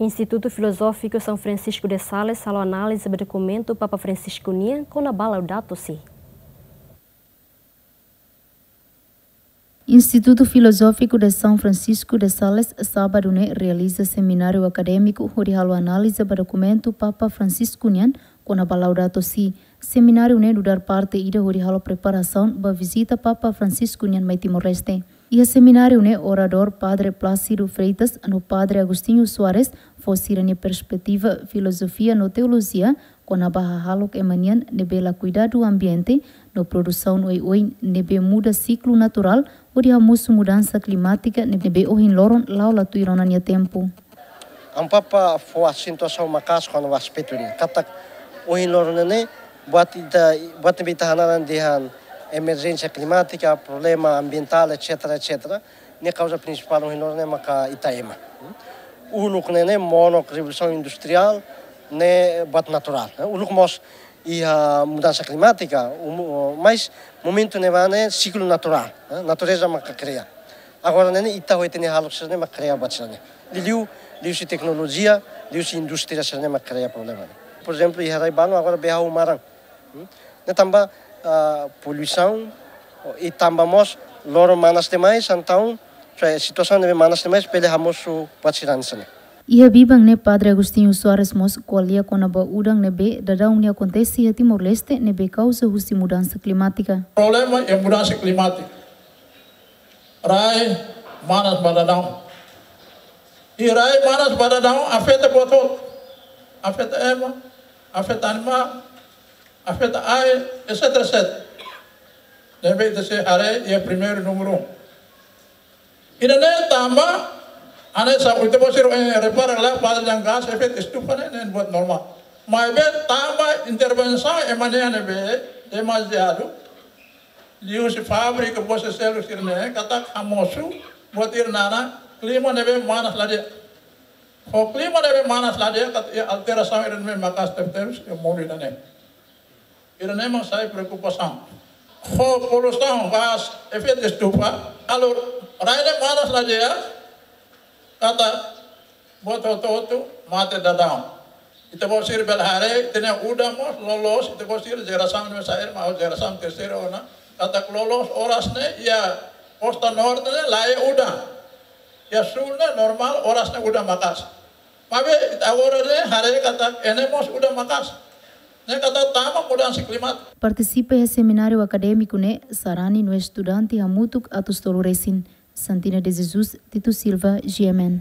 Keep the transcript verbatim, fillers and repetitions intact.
Institutu Filozófiku São Francisco de Sales halo análize ba dokumentu Papa Francisco nian kona-ba Laudato Si. Institutu Filozófiku de São Francisco de Sales, sábadu ne'e, realiza semináriu akadémiku hodi halo análize ba dokumentu Papa Francisco nian kona-ba Laudato Si. Semináriu ne'e nu'udar parte ida hodi halo preparasaun ba vizita Papa Francisco nian mai Timor-Leste. Iha semináriu ne'e oradór Padre Plácido Freitas no Padre Agostinho Soares fó sira-nia perspetiva filozofia no teolojia kona-ba hahalok ema nian ne'ebé la kuidadu ambiente no produsaun oioin ne'ebé muda siklu naturál hodi hamosu mudansa klimátika ne'ebé ohin loron la'o la tuir ona nia tempu. Amu Papa fó asentuasaun maka'as kona-ba aspetu ne'e. Katak ohin loron ne'e, buat ita, buat ne'ebé ita hanaran dehan emerjénsia klimátika, problema ambientál, et cetera, et cetera. Ne'e kauza prinsipál ohin loron ne'e maka ita ema. Uluk ne'e, ne'e monok revolusaun industriál, ne'e buat naturál. Uluk mós iha mudansa klimátika, um, mas momentu ne'ebá ne'e siklu naturál, eh, natureza maka kria. Agora ne'e, ne'e ita ho ita-nia hahalok sira-ne'e maka kria buat sira-ne'e. Liuliu, liuhusi teknolojia, liuhusi indústria sira-ne'e maka kria problema ne'e. Por ezemplu, iha rai-balu agora be hahú maran. Hmm? Ne'e tanba, ah, poluisaun, i tanba mós loron manas demais, entaun, situasaun ne'ebé manas demais, bele hamosu buat sira-ne'e. Iha biban ne'e Padre Agostinho Soares mós ko'alia kona-ba udan ne'ebé daudaun ne'e akontese iha Timor-Leste ne'ebé kauza husi mudansa klimátika. Problema iha mudansa klimátika. Rai manas ba daudaun. I rai manas ba daudaun afeta buat hotu. Afeta ema, afeta animál, afeta air, et cetera, et cetera. Ne'ebé ita sei haree iha primeiru númeru um. Ida-ne'e tanba, hanesan ita-boot sira, eh, repara lai, padre dehan gás efeitu estufa ne'e, ne'e buat normál. Maibé tanba intervensaun ema nian ne'ebé demaziadu, liuhusi fábrika, buat seluk sira-ne'e, katak hamosu buat ida naran klima ne'ebé manas la di'ak. Ho klima ne'ebé manas la di'ak, katak iha alterasaun ida ne'ebé maka'as tebetebes iha mundu ida-ne'e. Ida-ne'e mak sai preokupasaun. Ho poluisaun gás efeitu estufa, halo rai ne'e manas la di'ak, katak buat hotu-hotu mate daudaun. Ita-boot sira bele haree, ita-nia udan mós loloos, ita-boot sira jerasaun ne'ebé sair, maibé jerasaun terseira ona, katak loloos oras ne'e iha kosta norte ne'e la iha udan. Iha súl ne'e normál, oras ne'e udan maka'as. Maibé ita agora ne'e haree katak iha ne'e mós udan maka'as. Ne'e katak tanba mudansa klimátika. Partisipa iha semináriu akadémiku ne'e sarani no estudante hamutuk atus tolu resin. Santina de Jesus, Tito Silva, G M N.